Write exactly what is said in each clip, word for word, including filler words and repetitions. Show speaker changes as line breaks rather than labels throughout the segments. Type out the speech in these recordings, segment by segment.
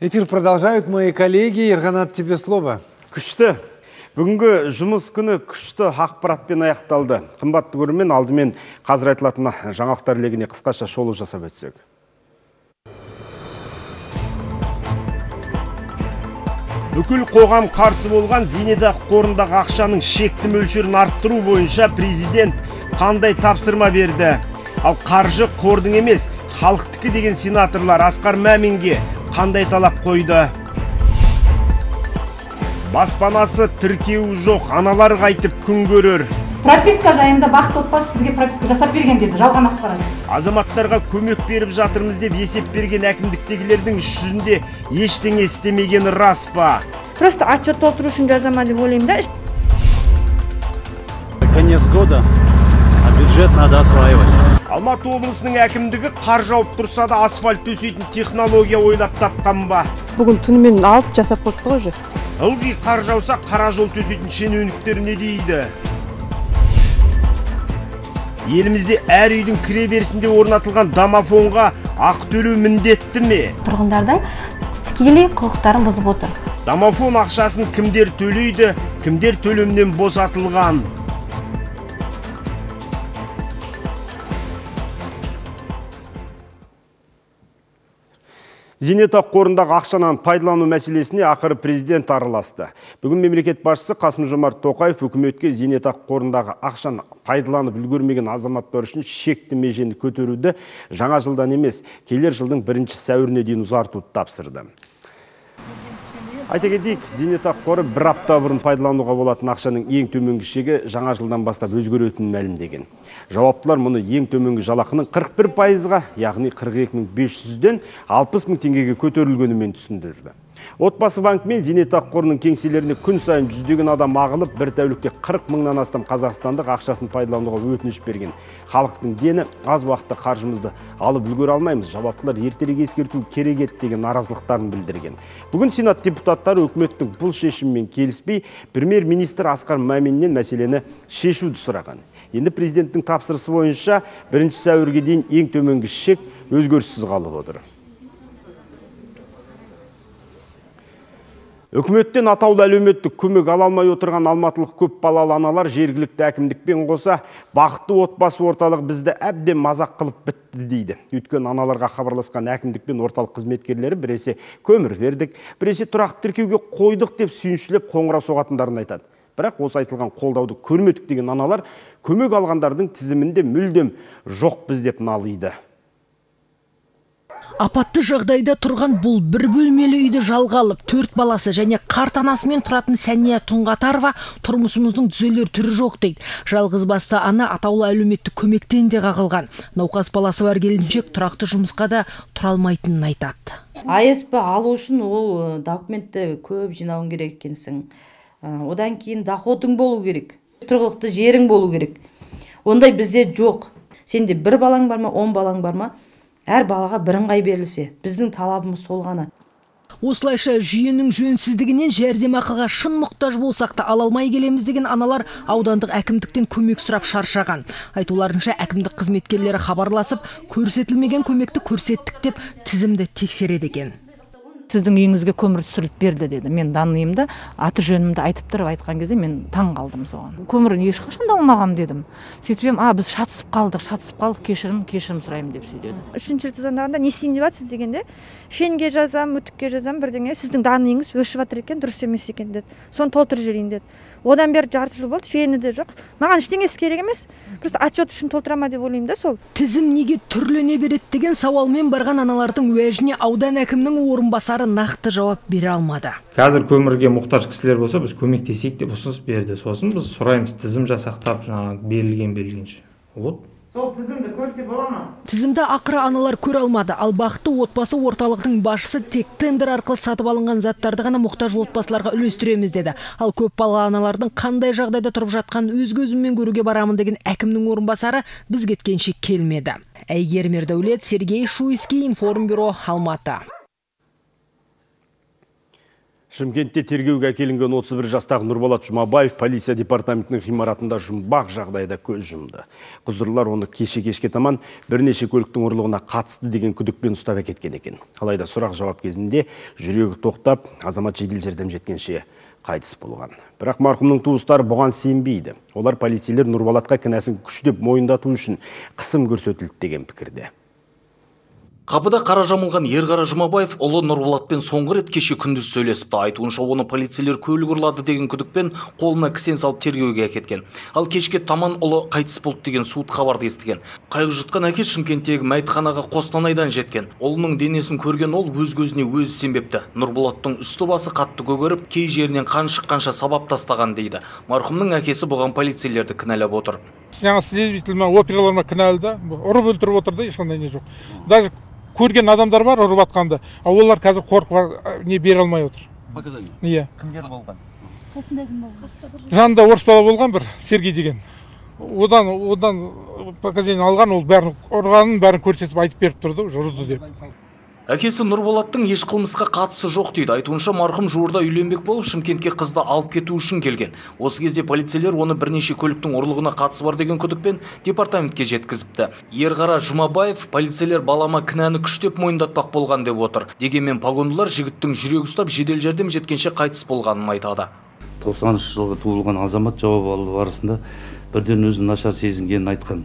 Эфир продолжают мои коллеги. Ерганат, тебе слово.
Күшті. Бүгінгі жұмыс күні күшті ақпаратпен аяқталды. Қымбатты көрермен, алдымен қазір айтылатын жаңалықтар легіне қысқаша шолу жасап өтсек. Бүкіл қоғам қарсы болған зейнетақы қорындағы ақшаның шекті мөлшерін арттыру бойынша президент қандай тапсырма берді? Ал қаржы қордың емес, халықтікі деген сенаторлар Асқар Маминге қандай талап қойды? Баспанасы тіркеуі жоқ, аналар қайтып күн көрер.
Прописка жайында бақыт отбасы сізге прописка жасап берген деді, жалған ақпарат.
Азаматтарға көмек беріп жатырмыз деп есеп берген әкімдіктегілердің іс жүзінде ештеңе істемегені рас па?
Просто отчет толтыру үшін жазама деп ойлаймын да.
Конец года, а бюджет надо осваивать.
Алматы облысының әкімдігі қар жауып тұрса да асфальт төсейтін технология ойлап тапқан ба?
Бүгін түнімен алып жасап қойыпты ғой же.
Ылғи қар жауса қара жол төсейтін шенеуніктер не дейді? Елімізде әр үйдің кіре берісінде орнатылған домофонға ақы төлеу міндетті ме?
Тұрғындардың тікелей құқықтарын бұзып отыр.
Домофон ақшасын кімдер төлейді, кімдер төлемнен босатылған? Зейнетақы қорындағы ақшанан пайдалану мәселесіне ақыры президент араласты. Бүгін мемлекет басшысы Қасым-Жомарт Тоқаев үкіметке зейнетақы қорындағы ақшаны пайдаланып үлгермеген азаматтар үшін шекті межені көтеруді жаңа жылдан емес, келер жылдың бірінші сәуіріне дейін ұзартуды тапсырды. Айта кетейік, зейнетақы қоры бір апта бұрын пайдалануға болатын ақшаның ең төменгі шегі жаңа жылдан бастап өзгеретінін мәлімдеген. Жауаптылар мұны ең төменгі жалақының қырық бір пайызға, яғни қырық екі мың бес жүзден алпыс мың теңгеге көтерілгенімен түсіндірді. Отбасы банк мен зейнетақы қорының кеңселеріне күн сайын жүздеген адам ағылып, бір тәулікте қырық мыңнан астам қазақстандық ақшасын пайдалануға өтініш берген. Халықтың дені аз уақытта қаржымызды алып үлгере алмаймыз, жауаптылар ертерек ескерту керек еді деген наразылықтарын білдірген. Бүгін Сенат депутаттары үкіметтің бұл шешіммен келіспей, премьер-министр Асқар Маминнен мәселені шешуді сұраған. Енді президенттің тапсырысы бойынша бірінші сәуірге дейін ең төменгі шек өзгеріссіз қалып отыр. Үкіметтен атаулы әлеуметтік көмек ала алмай отырған алматылық көп балалы аналар жергілікті әкімдікпен қоса бақытты отбасы орталық бізді әбден мазақ қылып бітті дейді. Өйткені аналарға хабарласқан әкімдік пен орталық қызметкерлері біресе көмір бердік, біресе тұрақты тіркеуге қойдық деп сүйіншілеп қоңырау соғатындарын айтады. Бірақ осы айтылған қолдауды көрмедік деген аналар көмек алғандардың тізімінде мүлдем жоқ біз деп налиды.
Апатты жағдайда тұрған бұл бір бөлмелі үйді жалға алып, төрт баласы және қарт анасымен тұратын Сәния Тұңғатарова тұрмысымыздың түзелер түрі жоқ дейді. Жалғыз басты ана атаулы әлеуметтік көмектен де қағылған. Науқас баласы бар келіншек тұрақты жұмысқа да тұра алмайтынын айтады.
А С П алу үшін ол документті көп жинауың керек екенсің. Одан кейін доходың болу керек. Тұрғылықты жерің болу керек. Ондай бізде жоқ. Сенде бір балаң бар ма, он балаң бар ма? Әр балаға бірыңғай берілсе, біздің талабымыз сол ғана.
Осылайша жүйенің жөнсіздігінен жәрдемақыға шын мұқтаж болсақ та ала алмай келеміз деген аналар аудандық әкімдіктен көмек сұрап шаршаған. Айтуларынша әкімдік қызметкерлері хабарласып, көрсетілмеген көмекті көрсеттік деп тізімді тексереді екен.
Сіздің үйіңізге көмір түсіріліп берді деді. Мен данныйымды, аты жөнімді айтып тұрып айтқан кезде мен таң қалдым соған. Көмірін ешқашан да алмағам дедім. Сөйтіп ем, а біз шатысып қалдық, шатысып қалдық, кешірім, кешірім сұраймын деп сөйледі.
Үшінші рет звондағанда не істейін деп жатсыз дегенде, фенге жазам, үтікке жазам, бірдеңе, сіздің данныйыңыз өшіп жатыр екен, дұрыс емес екен деді. Соны толтырып жіберейін деді. Одан бері жарты жыл болды, фені де жоқ. Маған ештеңесі керек емес. Просто отчет үшін толтырама деп ойлаймын да сол.
Тізім неге түрлене береді деген сауалмен барған аналардың уәжіне аудан әкімнің орынбасары нақты жауап бере алмады.
Қазір көмірге мұқтаж кісілер болса, біз көмектесейік деп ұсыныс берді. Сосын біз сұраймыз, тізім жасақтап, берілген берілгенше. Вот.
Сол тізімді көрсе бола ма?
Тізімді ақыры аналар көре алмады. Ал бақытты отбасы орталығының басшысы тек тендер арқылы сатып алынған заттарды ғана мұқтаж отбасыларға үлестіреміз деді. Ал көп балалы аналардың қандай жағдайда тұрып жатқан өз көзіммен көруге барамын деген әкімнің орынбасары біз кеткенше келмеді. Әйгерім Ердәулет, Сергей Шуйский, Информбюро, Алматы.
Шымкентте тергеуге әкелінген отыз бір жастағы Нұрболат Жұмабаев полиция департаментінің ғимаратында жұмбақ жағдайда көз жұмды. Құзырлар оны кеше-кешке таман бірнеше көліктің ұрлығына қатысты деген күдікпен ұстап әкеткен екен. Алайда сұрақ жауап кезінде жүрегі тоқтап, азамат жедел жәрдем жеткенше қайтыс болған. Бірақ марқұмның туыстары бұған сенбейді. Олар полицейлер Нұрболатқа кінәсін күштеп мойындату үшін қысым көрсетілді деген пікірде.
Қапыда қара жамылған Ерғара Жұмабаев ұлы Нұрболатпен соңғы рет кеше күндіз сөйлесіпті. Айтуынша оны полицейлер көлік ұрлады деген күдікпен қолына кісен салып тергеуге әкеткен. Ал кешке таман ұлы қайтыс болды деген суыт хабарды естіген. Қайғы жұтқан әке Шымкенттегі мәйітханаға Қостанайдан жеткен. Ұлының денесін көрген ол өз көзіне өзі сенбепті. Нұрболаттың үсті басы қатты көгеріп, кей жерінен қан шыққанша сабап тастаған дейді. Марқұмның әкесі бұған полицейлерді кінәлап отыр.
Жаңа следователь операларыма кінәлді. Ұрып өлтіріп отырды, ешқандай не жоқ. Даже көрген адамдар бар ұрып атқанды, ал олар қазір қорқып не бере алмай отыр.
Показания?
Иә.
Кімдер болған?
Қасында кім болған? Жанында орыс бала болған бір, Сергей деген. Одан одан показания алған, ол бәрін ұрғанын бәрін көрсетіп айтып беріп тұрды, ұрды деп.
Әкесі Нұрболаттың еш қылмысқа қатысы жоқ дейді. Айтуынша марқұм жуырда үйленбек болып Шымкентке қызды алып кету үшін келген. Осы кезде полицейлер оны бірнеше көліктің ұрлығына қатысы бар деген күдікпен департаментке жеткізіпті. Ерғара Жұмабаев полицейлер балама кінәні күштеп мойындатпақ болған деп отыр. Дегенмен погондылар жігіттің жүрегі ұстап жедел жәрдем жеткенше қайтыс болғанын айтады.
тоқсаныншы жылғы туылған азамат жауап алу барысында бірден өзін нашар сезінгенін айтқан.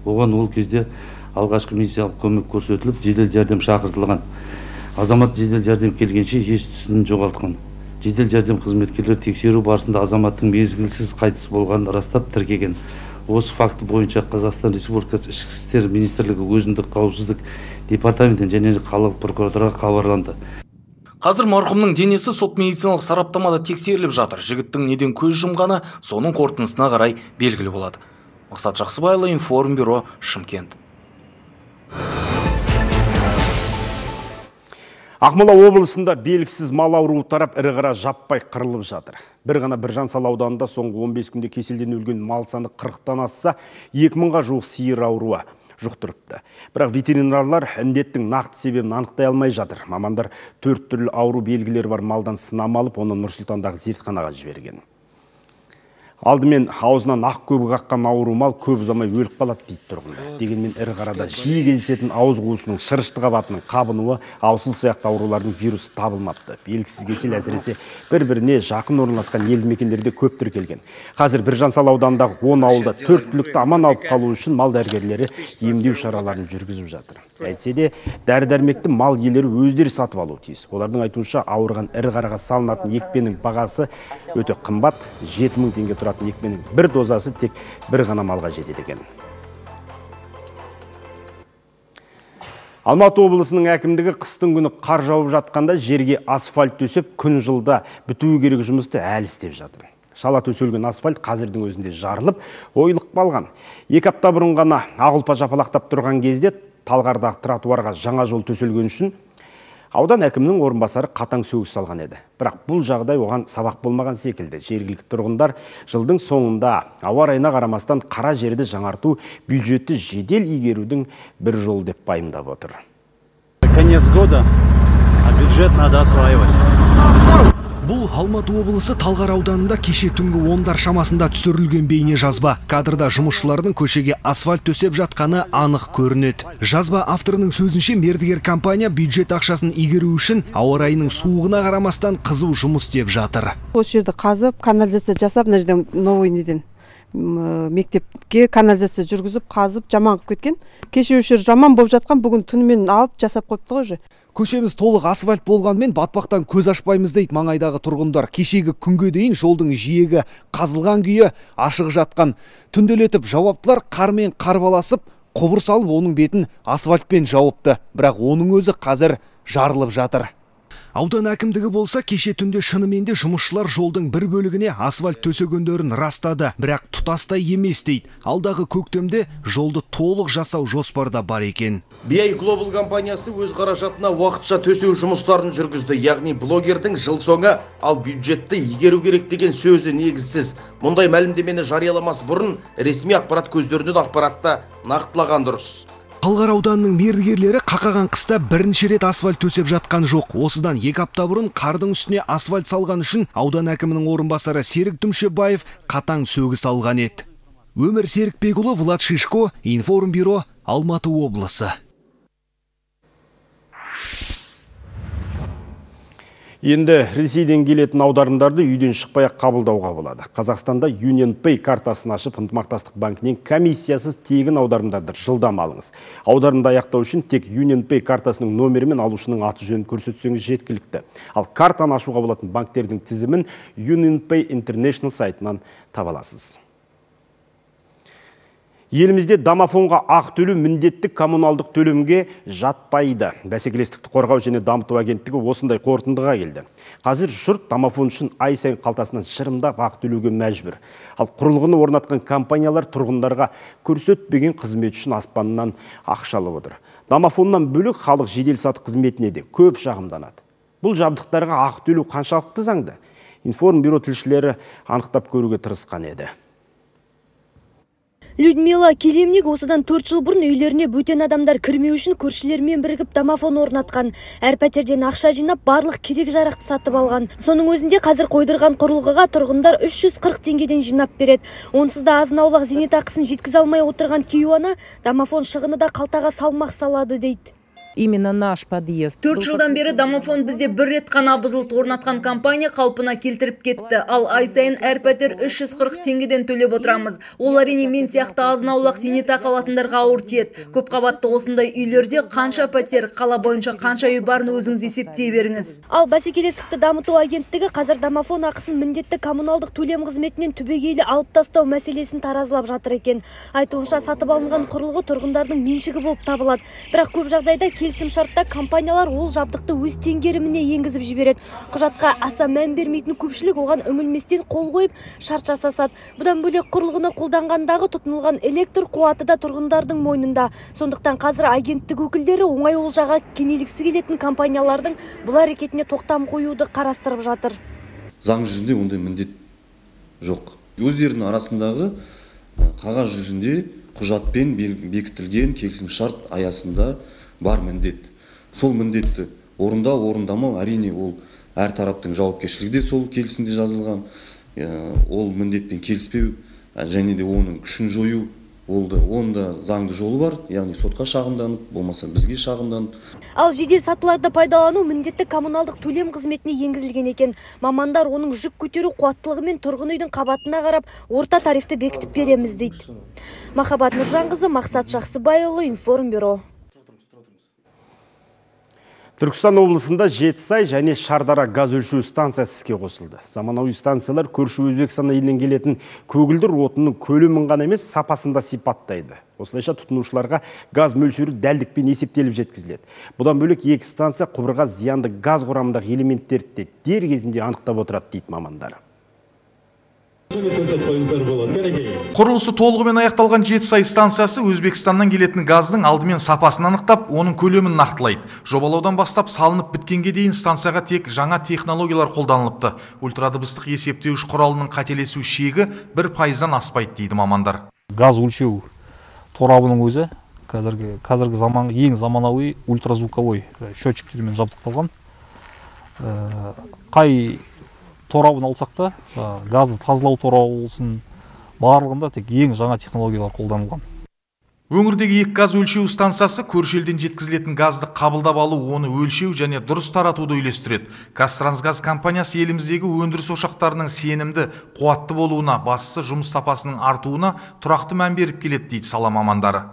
Оған ол кезде алғашқы медициналық көмек көрсетіліп, жедел жәрдем шақыртылған. Азамат жедел жәрдем келгенше ес-түсін жоғалтқан. Жедел жәрдем қызметкерлері тексеру барысында азаматтың мезгілсіз қайтыс болғанын растап тіркеген. Осы факті бойынша Қазақстан Республикасы Ішкі істер министрлігі өзіндік қауіпсіздік департаментін және қалалық прокуратураға хабарланды.
Қазір марқұмның денесі сот медициналық сараптамада тексеріліп жатыр. Жігіттің неден көз жұмғаны соның қорытындысына қарай белгілі болады. Мақсат Жақсыбайұлы, Информбюро, Шымкент.
Ақмола облысында белгісіз мал ауруы тарап ірі қара жаппай қырылып жатыр. Бір ғана Біржан-Сал ауданында соңғы он бес күнде кеселден өлген мал саны қырықтан асса, екі мыңға жуық сиыр ауруы жұқтырыпты. Бірақ ветеринарлар індеттің нақты себебін анықтай алмай жатыр. Мамандар төрт түрлі ауру белгілері бар малдан сынама алып, оны Нұр-Сұлтандағы зертханаға жіберген. Алдымен аузынан ақ көбік аққан ауру мал көп ұзамай өліп қалады дейді тұрғындар. Дегенмен ірі қарада жиі кездесетін ауыз қуысының шырышты қабатының қабынуы, аусыл сияқты аурулардың вирусы табылмапты. Белгісіз кесел әсіресе бір-біріне жақын орналасқан елді мекендерде көп тіркелген. Қазір Біржан-Сал ауданындағы он ауылда төрт түлікті аман алып қалу үшін мал дәрігерлері емдеу шараларын жүргізіп жатыр. Әйтсе де дәрі-дәрмекті мал иелері өздері сатып алуы тиіс. Олардың айтуынша ауырған ірі қараға салынатын екпенің бағасы өте қымбат, жеті мың теңге тұратын екпенің бір дозасы тек бір ғана малға жетеді екен. Алматы облысының әкімдігі қыстың күні қар жауып жатқанда жерге асфальт төсеп, күн жылда бітуі керек жұмысты әлі істеп жатыр. Шала төселген асфальт қазірдің өзінде жарылып, ойылық қалған. Екі апта бұрын ғана ақ ұлпа жапалақтап тұрған кезде Талғардағы тротуарға жаңа жол төселген үшін аудан әкімінің орынбасары қатаң сөгіс салған еді. Бірақ бұл жағдай оған сабақ болмаған секілді. Жергілікті тұрғындар жылдың соңында ауа райына қарамастан қара жерді жаңарту, бюджетті жедел игерудің бір жол деп пайымдап отыр.
Конец года, а бюджет надо осваивать.
Бұл Алматы облысы Талғар ауданында кеше түнгі ондар шамасында түсірілген бейне жазба. Кадрда жұмысшылардың көшеге асфальт төсеп жатқаны анық көрінеді. Жазба авторының сөзінше мердігер компания бюджет ақшасын игеру үшін ауа райының суығына қарамастан қызу жұмыс істеп жатыр.
Осы жерді қазып, канализация жасап, мына жерден новый неден мектепке канализация жүргізіп, қазып, жаман қылып кеткен. Кеше өшір жаман болып жатқан, бүгін түнімен алып жасап қойыпты ғой.
Көшеміз толық асфальт болғанмен батпақтан көз ашпаймыз дейді маңайдағы тұрғындар. Кешегі күнге дейін жолдың жиегі қазылған күйі ашық жатқан. Түнделетіп жауаптылар қармен қарбаласып, құбыр салып оның бетін асфальтпен жауыпты. Бірақ оның өзі қазір жарылып жатыр. Аудан әкімдігі болса кеше түнде шынымен де жұмысшылар жолдың бір бөлігіне асфальт төсегендерін растады, бірақ тұтастай емес дейді. Алдағы көктемде жолды толық жасау жоспарда бар екен.
би ай Global компаниясы өз қаражатына уақытша төсеу жұмыстарын жүргізді. Яғни блогердің жыл соңы ал бюджетті игеру керек деген сөзі негізсіз. Мұндай мәлімдемені жарияламас бұрын ресми ақпарат көздерінен ақпаратты нақтылаған дұрыс.
Талғар ауданының мердігерлері қақаған қыста бірінші рет асфальт төсеп жатқан жоқ. Осыдан екі апта бұрын қардың үстіне асфальт салған үшін аудан әкімінің орынбасары Серік Дүмшебаев қатаң сөгіс алған еді. Өмір Серікбекұлы, Влад Шишко, Информбюро, Алматы облысы.
Енді Ресейден келетін аударымдарды үйден шықпай қабылдауға болады. Қазақстанда UnionPay картасын ашып, ынтымақтастық банкінен комиссиясыз тегін аударымдарды жылдам алыңыз. Аударымды аяқтау үшін тек UnionPay картасының номері мен алушының аты жөнін көрсетсеңіз жеткілікті. Ал картаны ашуға болатын банктердің тізімін UnionPay International сайтынан таба аласыз. Елімізде домофонға ақ төлеу міндетті коммуналдық төлемге жатпайды. Бәсекелестікті қорғау және дамыту агенттігі осындай қорытындыға келді. Қазір жұрт домофон үшін ай сайын қалтасынан шырымдап ақ төлеуге мәжбүр. Ал құрылғыны орнатқан компаниялар тұрғындарға көрсетпеген қызмет үшін аспаннан ақша алып отыр. Домофоннан бөлек халық жеделсаты қызметіне де көп шағымданады. Бұл жабдықтарға ақ төлеу қаншалықты заңды? Информбюро тілшілері анықтап көруге тырысқан еді.
Людмила Келемник осыдан төрт жыл бұрын үйлеріне бөтен адамдар кірмеу үшін көршілермен бірігіп домофон орнатқан. Әр пәтерден ақша жинап, барлық керек жарақты сатып алған. Соның өзінде қазір қойдырған құрылғыға тұрғындар үш жүз қырық теңгеден жинап береді. Онсыз да азын-аулақ зейнетақысын жеткізе алмай отырған кейуана домофон шығыны да қалтаға салмақ салады дейді.
Именно наш подъезд.
Төрт жылдан бері домофон бізде бір рет қана бұзылды, орнатқан компания қалпына келтіріп кетті. Ал ай сайын әр пәтер үш жүз қырық теңгеден төлеп отырамыз. Ол әрине мен сияқты азын-аулақ зейнетақы алатындарға ауыр тиеді. Көп қабатты осындай үйлерде қанша пәтер, қала бойынша қанша үй барын өзіңіз есептей беріңіз.
Ал бәсекелестікті дамыту агенттігі қазір домофон ақысын міндетті коммуналдық төлем қызметінен түбегейлі алып тастау мәселесін таразылап жатыр екен. Айтуынша сатып алынған құрылғы тұрғындардың меншігі болып табылады. Бірақ көп жағдайда келісім шартта компаниялар ол жабдықты өз теңгеріміне енгізіп жібереді. Құжатқа аса мән бермейтін көпшілік оған үмілместен қол қойып шарт жасасады. Бұдан бөлек құрылғыны қолданғандағы тұтынылған электр қуаты да тұрғындардың мойнында. Сондықтан қазір агенттік өкілдері оңай олжаға кенелгісі келетін компаниялардың бұл әрекетіне тоқтам қоюды қарастырып жатыр.
Заң жүзінде ондай міндет жоқ. Өздерінің арасындағы қағаз жүзінде құжатпен бекітілген келісім шарт аясында бар міндет. Сол міндетті орындау, орындамау әрине ол әр тараптың жауапкершілігі де сол келісімде жазылған. Ол міндетпен келіспеу және де оның күшін жою олды. Онда заңды жолы бар, яғни сотқа шағымданып, болмаса бізге шағымданып.
Ал жедел сатыларды пайдалану міндетті коммуналдық төлем қызметіне енгізілген екен. Мамандар оның жүк көтеру қуаттылығы мен тұрғын үйдің қабатына қарап орта тарифті бекітіп береміз дейді. Махаббат Нұржанқызы, Мақсат Жақсыбайұлы, Информбюро.
Түркістан облысында Жетісай және Шардара газ өлшеу станциясы іске қосылды. Заманауи станциялар көрші Өзбекстан елінен келетін көгілдір отынның көлемін ғана емес, сапасында сипаттайды. Осылайша тұтынушыларға газ мөлшері дәлдікпен есептеліп жеткізіледі. Бұдан бөлек екі станция құбырға зиянды газ құрамындағы элементтерді дер кезінде анықтап отырады дейді мамандар.
Құрылысы толығымен аяқталған Жетісай станциясы Өзбекстаннан келетін газдың алдымен сапасын анықтап, оның көлемін нақтылайды. Жобалаудан бастап салынып біткенге дейін станцияға тек жаңа технологиялар қолданылыпты. Ультрадыбыстық есептеуіш құралының қателесу шегі бір пайыздан аспайды дейді мамандар.
Газ өлшеу торабының өзі қазіргі қазіргі заман ең заманауи ультразвуковой счетчиктермен жабдықталған. Қай торабын алсақ та, газды тазалау торабы болсын, барлығында тек ең жаңа технологиялар қолданылған.
Өңірдегі екі газ өлшеу станциясы көрші елден жеткізілетін газды қабылдап алу, оны өлшеу және дұрыс таратуды үйлестіреді. Қазтрансгаз компаниясы еліміздегі өндіріс ошақтарының сенімді, қуатты болуына, бастысы жұмыс сапасының артуына тұрақты мән беріп келеді дейді сала мамандары.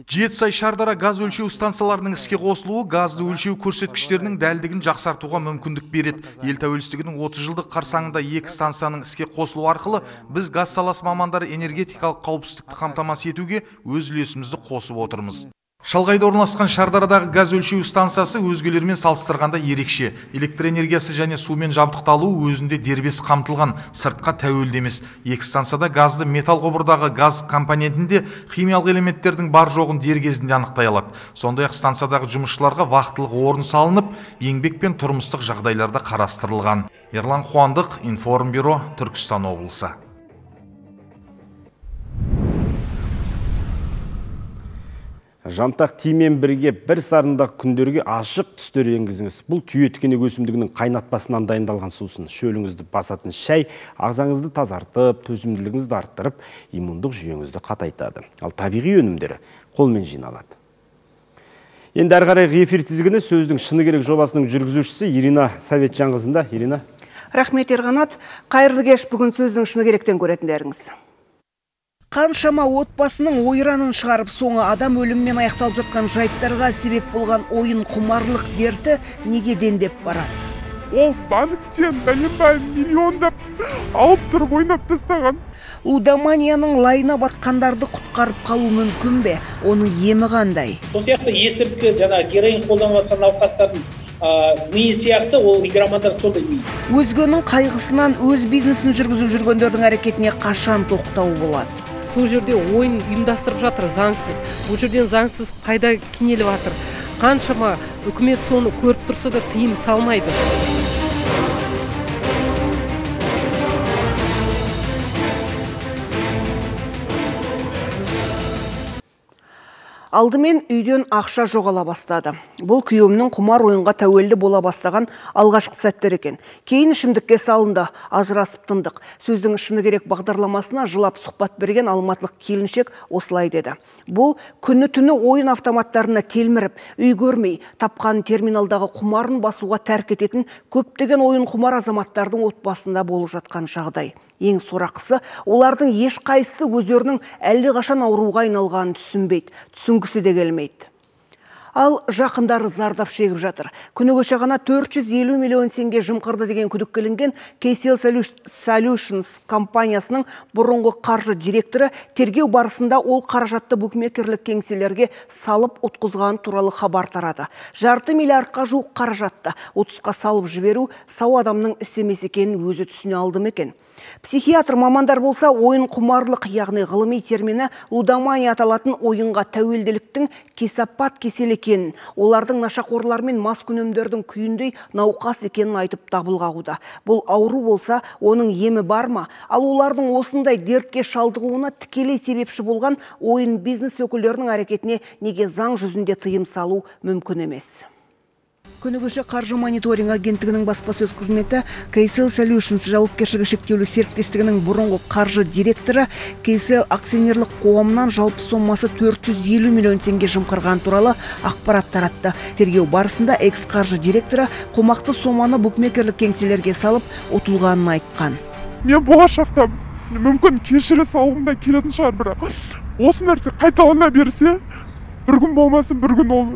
Жетісай Шардара газ өлшеу станцияларының іске қосылуы газды өлшеу көрсеткіштерінің дәлдігін жақсартуға мүмкіндік береді. Ел тәуелсіздігінің отыз жылдық қарсаңында екі станцияның іске қосылу арқылы біз газ саласы мамандары энергетикалық қауіпсіздікті қамтамасыз етуге өз үлесімізді қосып отырмыз. Шалғайда орналасқан Шардарадағы газ өлшеу станциясы өзгелермен салыстырғанда ерекше. Электр энергиясы және сумен жабдықталуы өзінде дербес қамтылған, сыртқа тәуелді емес. Екі станцияда газды металл құбырдағы газ компонентінде химиялық элементтердің бар жоғын дер кезінде анықтай алады. Сондай-ақ станциядағы жұмысшыларға вақтылық орын салынып, еңбек пен тұрмыстық жағдайларда қарастырылған. Ерлан Қуандық, Информбюро, Түркістан облысы.
Жантақ тимен бірге бір сарындақ күндерге ашық түстер енгізіңіз. Бұл түйеткенек өсімдігінің қайнатпасынан дайындалған сусын. Шөліңізді басатын шай ағзаңызды тазартып, төзімділігіңізді арттырып, иммундық жүйеңізді қатайтады. Ал табиғи өнімдері қолмен жиналады. Енді әрі қарай эфир тізгіні сөздің шыны керек жобасының жүргізушісі Ирина Советжанқызында. Ирина.
Рахмет Ерғанат. Қайырлы кеш, бүгін сөздің шыны керектен көретіндеріңіз. Қаншама отбасының ойранын шығарып, соңы адам өліммен аяқталып жатқан жайттарға себеп болған ойын құмарлық дерті неге дендеп барады?
Ол банктен бәленбай миллиондап алып тұрып ойнап тастаған.
Лудоманияның лайына батқандарды құтқарып қалу мүмкін бе? Оның емі қандай?
Сол сияқты есірткі, жаңа героин қолданып жатқан науқастардың миы сияқты ол игромандар сондай ми.
Өзгенің қайғысынан өз бизнесін жүргізіп жүргендердің әрекетіне қашан тоқтау болады?
Сол жерде ойын ұйымдастырып жатыр заңсыз. Бұл жерден заңсыз пайда кенеліп жатыр. Қаншама үкімет соны көріп тұрса да тыйым салмайды.
Алдымен үйден ақша жоғала бастады. Бұл күйеуімнің құмар ойынға тәуелді бола бастаған алғашқы сәттер екен. Кейін ішімдікке салынды, ажырасып тындық. Сөздің шыны керек бағдарламасына жылап сұхбат берген алматылық келіншек осылай деді. Бұл күні түні ойын автоматтарына телміріп, үй көрмей, тапқан терминалдағы құмарын басуға тәрк ететін көптеген ойын құмар азаматтардың отбасында болып жатқан жағдай. Ең сорақысы, олардың ешқайсысы өздерінің әлдеқашан ауруға айналғанын түсінбейді, түсінгісі де келмейді. Ал жақындары зардап шегіп жатыр. Күні кеше ғана төрт жүз елу миллион теңге жымқырды деген күдікке Кейсел Solutions компаниясының бұрынғы қаржы директоры тергеу барысында ол қаражатты букмекерлік кеңселерге салып ұтқызған туралы хабар тарады. Жарты миллиардқа жуық қаражатты отызға салып жіберу сау адамның іс емес екенін өзі түсіне алды ма екен? Психиатр мамандар болса, ойын құмарлық, яғни ғылыми термині лудомания аталатын ойынға тәуелділіктің кесапат кесел екенін, олардың нашақорлар мен маскүнемдердің күйіндей науқас екенін айтып дабыл қағуда. Бұл ауру болса, оның емі бар ма? Ал олардың осындай дертке шалдығуына тікелей себепші болған ойын бизнес өкілдерінің әрекетіне неге заң жүзінде тыйым салу мүмкін емес? Күні кеше қаржы мониторинг агенттігінің баспасөз қызметі Кейсел Solutions жауапкершілігі шектеулі серіктестігінің бұрынғы қаржы директоры Кейсел акционерлік қоғамынан жалпы сомасы төрт жүз елу миллион теңге жымқырған туралы ақпарат таратты. Тергеу барысында экс-қаржы директоры қомақты соманы букмекерлік кеңселерге салып ұтылғанын айтқан.
Мен болашақта мүмкін кешіре салғымда келетін шығар, бірақ осы нәрсе қайталана берсе, бір күн болмасын, бір күн ол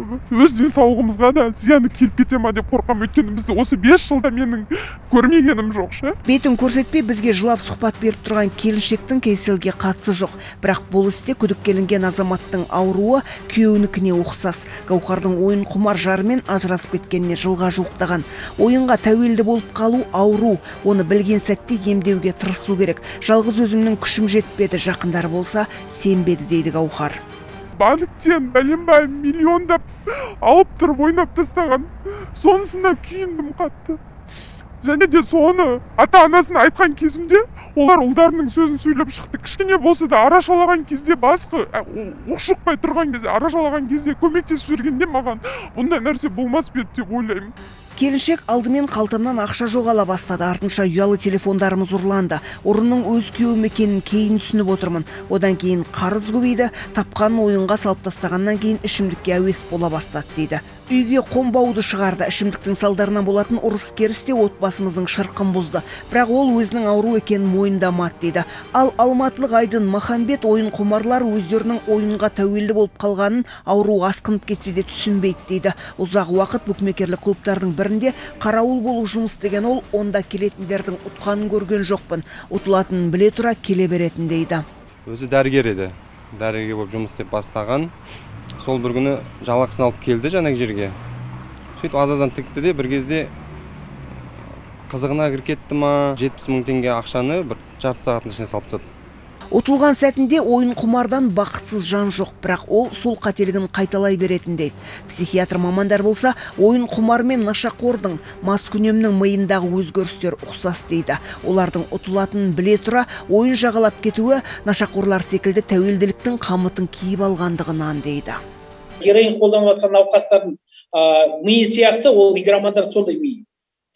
өз денсаулығымызға да зияны келіп кете ма деп қорқам. Өйткені біз осы бес жылда менің көрмегенім жоқ ше.
Бетін көрсетпей бізге жылап сұхбат беріп тұрған келіншектің Кейселге қатысы жоқ. Бірақ бұл істе күдіккеленген азаматтың ауруы күйеуінікіне ұқсас. Гаухардың ойын құмар жарымен ажырасып кеткеніне жылға жуықтаған. Ойынға тәуелді болып қалу ауру. Оны білген сәтте емдеуге тырысу керек. Жалғыз өзімнің күшім жетпеді, жақындар болса сенбеді дейді Гаухар.
Банктен бәленбай миллиондап алып тұрып ойнап тастаған. Сонысында күйіндім қатты. Және де соны ата-анасына айтқан кезімде, олар ұлдарының сөзін сөйлеп шықты. Кішкене болса да арашалаған кезде, басқы оқшықпай тұрған кезде, арашалаған кезде көмектесіп жүргенде маған бұндай нәрсе болмас па еді деп ойлаймын.
Келіншек алдымен қалтамнан ақша жоғала бастады, артынша ұялы телефондарымыз ұрланды. Ұрының өз күйеуім екенін кейін түсініп отырмын. Одан кейін қарыз көбейді, тапқанын ойынға салып тастағаннан кейін ішімдікке әуес бола бастады дейді. Үйге қонбауды шығарды. Ішімдіктің салдарынан болатын ұрыс керісте отбасымыздың шырқын бұзды. Бірақ ол өзінің ауру екенін мойындамады дейді. Ал алматылық Айдын Махамбет ойын құмарлар өздерінің ойынға тәуелді болып қалғанын ауру асқынып кетсе де түсінбейді дейді. Ұзақ уақыт букмекерлік клубтардың бірінде қарауыл болу жұмыс деген ол, онда келетіндердің ұтқанын көрген жоқпын. Ұтылатынын біле тұра келе беретін дейді.
Өзі дәрігер еді. Дәрігер болып жұмыс істеп бастаған. Сол бір күні жалақысын алып келді жаңағы жерге. Сөйтіп аз-аздан тікті де бір кезде қызығына кіріп кетті ма, жетпіс мың теңге ақшаны бір жарты сағаттың ішіне салып тастады.
Ұтылған сәтінде ойын құмардан бақытсыз жан жоқ, бірақ ол сол қателігін қайталай беретін дейді. Психиатр мамандар болса, ойын құмар мен нашақордың, маскүнемнің миындағы өзгерістер ұқсас дейді. Олардың ұтылатынын біле тұра, ойын жағалап кетуі нашақорлар секілді тәуелділіктің қамытын киіп алғандығынан дейді.
Героин қолданып жатқан науқастардың миы сияқты, ол игромандар сондай миы.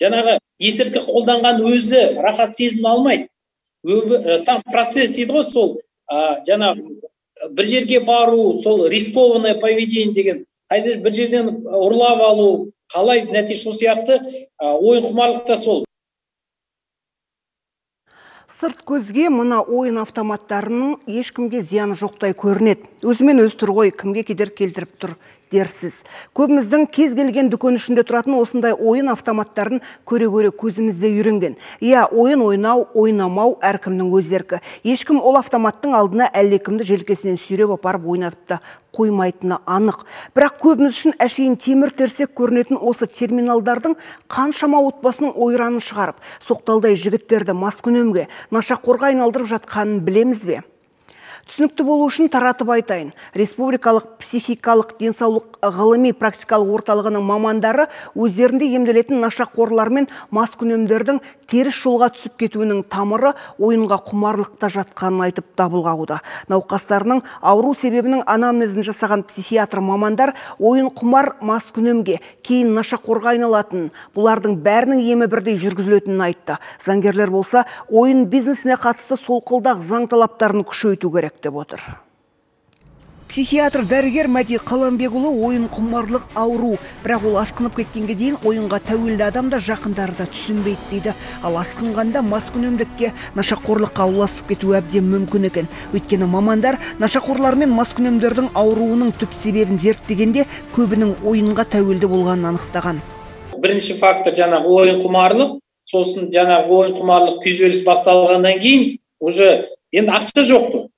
Жаңағы есірткі қолданған өзі рахат сезім алмайды. Сам процесс дейді ғой, сол жаңағы бір жерге бару, сол рискованное поведение деген, бір жерден ұрлап алу, қалай нәтиже сол сияқты ойын құмарлықта сол.
Сырт көзге мына ойын автоматтарының ешкімге зияны жоқтай көрінеді. Өзімен өз тұр ғой, кімге кедергі келтіріп тұр дерсіз. Көбіміздің кез келген дүкен ішінде тұратын осындай ойын автоматтарын көре-көре көзімізде үйренген. Иә, ойын ойнау, ойнамау әркімнің өз еркі. Ешкім ол автоматтың алдына әлдекімді желкесінен сүйреп апарып ойнатып та қоймайтыны анық. Бірақ көбіміз үшін әшейін темір терсек көрінетін осы терминалдардың қаншама отбасының ойранын шығарып, соқталдай жігіттерді маскүнемге, нашақорға айналдырып жатқанын білеміз бе? Түсінікті болу үшін таратып айтайын. Республикалық психикалық денсаулық ғылыми практикалық орталығының мамандары өздерінде емделетін нашақорлар мен маскүнемдердің теріс жолға түсіп кетуінің тамыры ойынға құмарлықта жатқанын айтып дабыл қағуда. Науқастарының ауру себебінің анамнезін жасаған психиатр мамандар ойын құмар маскүнемге, кейін нашақорға айналатынын, бұлардың бәрінің емі бірдей жүргізілетінін айтты. Заңгерлер болса, ойын бизнесіне қатысты солқылдақ заң талаптарын күшейту керек деп отыр. Психиатр дәрігер Мәди Қаламбекұлы ойын құмарлық ауру, бірақ ол асқынып кеткенге дейін ойынға тәуелді адамда жақындары да түсінбейді дейді. Ал асқынғанда маскүнемдікке, нашақорлыққа ұласып кетуі әбден мүмкін екен. Өйткені мамандар нашақорлар мен маскүнемдердің ауруының түп себебін зерттегенде көбінің ойынға тәуелді болғанын анықтаған.
Бірінші фактор жаңағы ойын құмарлық, сосын жаңағы ойын құмарлық күйзеліс басталғаннан кейін уже енді ақша жоқ қой.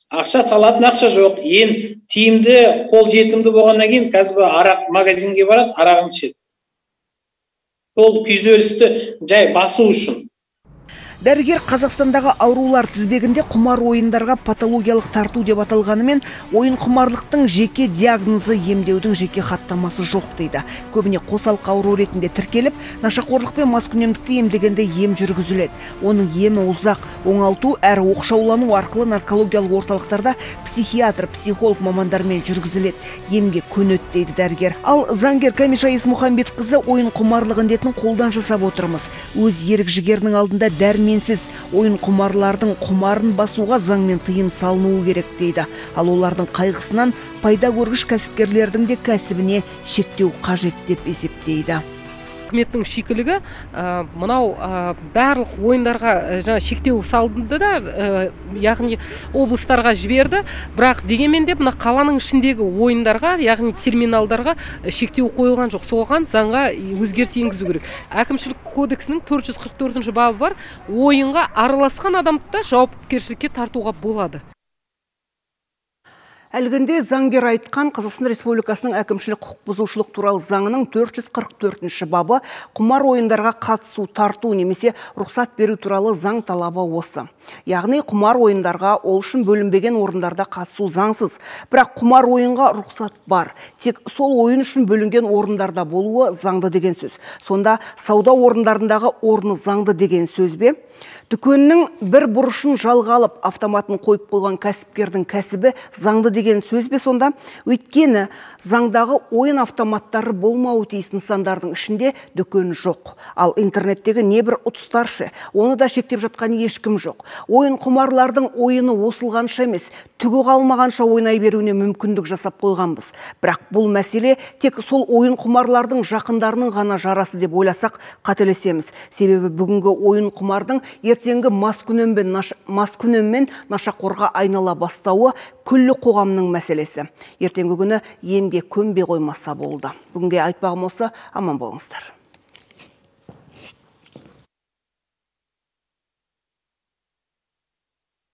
Ақша салатын ақша жоқ. Ең тиімді, қол жетімді болғаннан кейін қазір арақ магазинге барады, арағын ішеді. Сол күйзелісті жай басу үшін.
Дәрігер Қазақстандағы аурулар тізбегінде құмар ойындарға патологиялық тарту деп аталғанымен, ойын құмарлықтың жеке диагнозы, емдеудің жеке хаттамасы жоқ дейді. Көбіне қосалқы ауру ретінде тіркеліп, нашақорлық пен маскүнемдікті емдегенде ем жүргізіледі. Оның емі ұзақ, оңалту әрі оқшаулану арқылы наркологиялық орталықтарда психиатр, психолог мамандармен жүргізіледі. Емге көнеді дейді дәрігер. Ал заңгер Камиша Есмұхамбетқызы ойын құмарлық індетін қолдан жасап отырмыз. Өз ерік жігерінің алдында дәрменсіз, ойын құмарлардың құмарын басуға заңмен тыйым салынуы керек дейді. Ал олардың қайғысынан пайда көргіш кәсіпкерлердің де кәсібіне шектеу қажет деп есептейді.
Үкіметтің шикілігі мынау барлық ойындарға жаңа шектеу салынды да, яғни облыстарға жіберді, бірақ дегенмен де мына қаланың ішіндегі ойындарға, яғни терминалдарға шектеу қойылған жоқ. Соған заңға өзгеріс енгізу керек. Әкімшілік кодексінің төрт жүз қырық төртінші бабы бар, ойынға араласқан адамды да жауапкершілікке тартуға болады.
Әлгінде заңгер айтқан Қазақстан Республикасының әкімшілік құқық бұзушылық туралы заңының төрт жүз қырық төртінші бабы құмар ойындарға қатысу, тарту немесе рұқсат беру туралы заң талабы осы. Яғни құмар ойындарға ол үшін бөлінбеген орындарда қатысу заңсыз. Бірақ құмар ойынға рұқсат бар. Тек сол ойын үшін бөлінген орындарда болуы заңды деген сөз. Сонда сауда орындарындағы орны заңды деген сөз бе? Дүкеннің бір бұрышын жалға алып, автоматын қойып қойған кәсіпкердің кәсібі заңды деген сөз бе сонда? Өйткені заңдағы ойын автоматтары болмауы тиіс нысандардың ішінде дүкен жоқ. Ал интернеттегі небір ұтыстаршы, оны да шектеп жатқан ешкім жоқ. Ойын құмарлардың ойыны осылғанша емес, түгі қалмағанша ойнай беруіне мүмкіндік жасап қойғанбыз. Бірақ бұл мәселе тек сол ойын құмарлардың жақындарының ғана жарасы деп ойласақ қателесеміз. Себебі бүгінгі ойын құмардың ертеңгі маскүнеммен нашақорға айнала бастауы күллі қоғамның мәселесі. Ертеңгі күні емге көнбей қоймаса болды. Бүгінге айтпағым осы, аман болыңыздар.